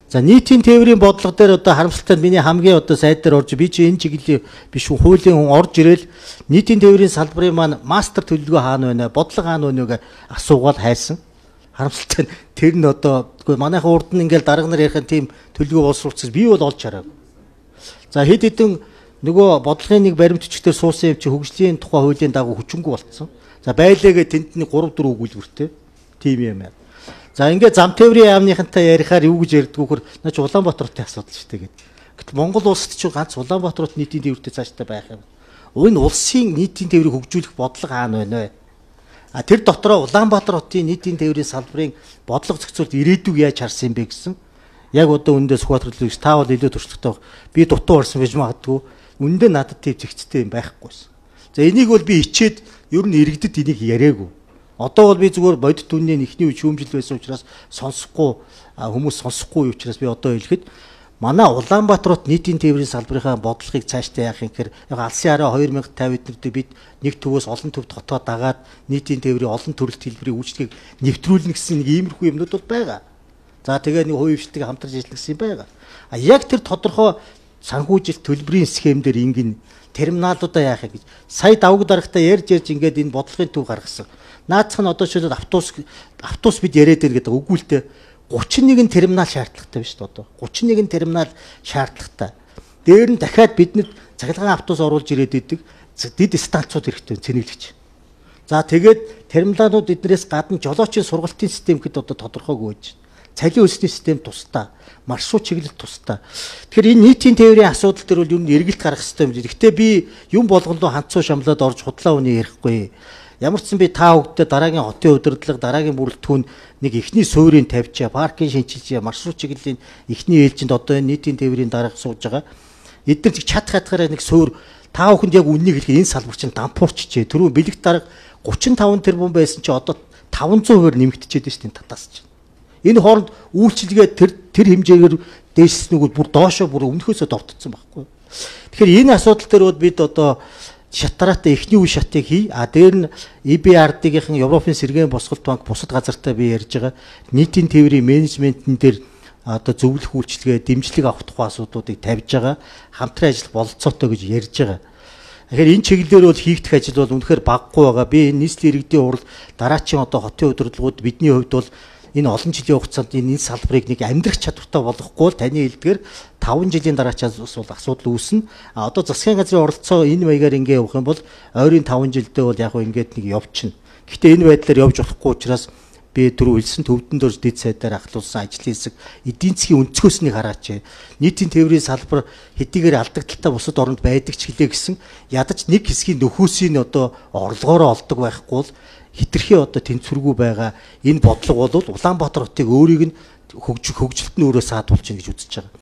За нийтийн тээврийн бодлого дээр одоо харамсалтай миний хамгийн одоо сайд дээр орж би чи энэ чиглэлийн биш хуулийн хүн орж ирэл нийтийн тээврийн салбарын маань мастер төлөвлөгөө хаана байна, бодлого хаана байна гэж асуугаад хайсан. Харамсалтай тэр нь одоо манайхан урд нь ингээл дарга нар ярихын тийм төлөвлөгөө боловсруулчихсан би бол олж хараагүй. За хэд хэдэн нөгөө бодлогын нэг баримтчдээр суусан юм чи хөгжлийн тухай хуулийн дагуу хүчингүй болцсон. За байлаагээ тэнд нэг 3 4 өгүүлбэртэй тийм юм байна. За ингээд зам тээврийн яамныхантай ярихаар юу гэж ярьдгүүхэр наач Улаанбаатарын асуудал шүү дээ гэдэг. Гэтэл Монгол улсад ч ганц Улаанбаатарт нийтийн тээвртэй цааштай байх юм. Энэ улсын нийтийн тээврийг хөгжүүлэх бодлого хаана байна вэ? А тэр дотроо Улаанбаатар хотын нийтийн тээврийн салбарын бодлого зохицуулт ирээдүг яаж харсан юм бэ гэсэн. Яг одоо үндэ Сүхбаатарлыг та бол илүү туршлагатай. Би дутуу орсон байж магадгүй. Үндэ надад тийм зэгцтэй юм байхгүйсэн. За энийг бол би ичээд ер нь иргэдэд энийг яриаггүй. Одоо бол би зүгээр бодит үнийн ихний шүүмжил байсан учраас сонсохгүй хүмүүс сонсохгүй учраас би одоо хэлэхэд манай Улаанбаатарт нийтийн тээврийн салбарынхаа бодлогыг цаашдаа яах юм гэхээр яг алсын хараа 2050 эднэрдээ бид нэг төвөөс олон төвд хотоо дагаад нийтийн тээврийн олон төрөлт хэлбэрийн үйлчлэгийг нэвтрүүлнэ гэсэн нэг иймэрхүү юмнууд бол байгаа. За тэгээ нэг хувийн хвшилтэйг хамтарч ажиллах гэсэн юм байгаа. А яг тэр тодорхой санхүүжилт төлбөрийн схемдэр ингэн терминалуудаа яах гэж сая давг дарагтаа ярьж ингээд энэ бодлогын төв гаргасан. Наацх нь одоо шилээд автобус бид яриад байна гэдэг үгүй л дээ 31 терминал шаардлагатай биш үү одоо 31 терминал шаардлагатай. Дээр нь дахиад бидэнд цахилгаан автобус оруулж ирээд идэг дэд станцууд хэрэгтэй цэнэглэгч. За тэгээд терминалууд эднэрээс гадна жолоочийн сургалтын систем гэд одоо тодорхойгүй байж. Цалин өсний систем тусдаа, маршрут чиглэл тусдаа. Тэгэхээр энэ нийтийн тээврийн асуудал төр бол юу н эргэлт гарах хэрэгтэй юм. Гэхдээ би юм болгондоо ханцуу шамлаад орж худлаа үний ярихгүй. Ямар ч сан би та хүүхдэд дараагийн хотын удирдлага, дараагийн бүрэлдэхүүн нэг ихний суурийг тавьчаа, паркинг шинчилж, маршрут чиглэлийн ихний ээлжинд одоо энэ нийтийн тээврийн дарга сууж байгаа. Эдгээр чад хатгаараа нэг суур та хүүхэнд яг үннийг хэлэх энэ салбар чинь дампуурчжээ. Түрүү бэлэг дарга 35 тэрбум байсан чи одоо 500% нэмэгдчихэд байна шүү дээ татаас чинь. Энэ хооронд үйлчилгээ тэр хэмжээгээр дээшснүүгүүд бүр доошоо бүр өмнөхөөсөө довтцсон байхгүй. Тэгэхээр энэ асуудал дээр бол бид одоо шатараатай эхний үе шатыг хий. А дээр нь EBRD-ийн Европын сэргээн босголт банк бусад газартаа би ярьж байгаа нийтийн тээврийн менежментэн дээр одоо зөвлөх үйлчилгээ, дэмжлэг авах тухай асуудлуудыг тавьж байгаа. Хамтран ажиллах бололцоотой гэж ярьж байгаа. Тэгэхээр энэ чиглэлээр бол хийгдэх ажил бол үнэхээр баггүй байгаа. Би энэ нийслэлийн иргэдийн хурал дараачийн одоо хотын удирдлагууд бидний хувьд бол энэ олон жилийн хугацаанд энэ салбарыг нэг амьдрах чадвартай болгохгүй бол таны хэлдгээр 5 жилийн дараачаас бол асуудал үүснэ. А одоо засгийн газрын оролцоо энэ маягаар ингээ явах юм бол ойрын 5 жилдээ бол яг ингээд нэг явчихна. Гэхдээ энэ байдлаар явж болохгүй учраас би түрүү хэлсэн төвдөн дөрж дэд сайдаар ахлуулсан ажлын хэсэг эдийн засгийн өнцгөөс нэг хараач. Нийтийн тээврийн салбар хэдийгээр алдагдaltaй бусад оронд байдаг ч хэлээ гэсэн ядаж нэг хэсгийн нөхөөсийн одоо орлогоороо олдог байхгүй бол хитрхи одоо тэнцвэргүй байгаа энэ бодлого бол Улаанбаатар хотыг өөрийг нь хөгжилт нь өөрөө саадуулж гин гэж үзэж байгаа.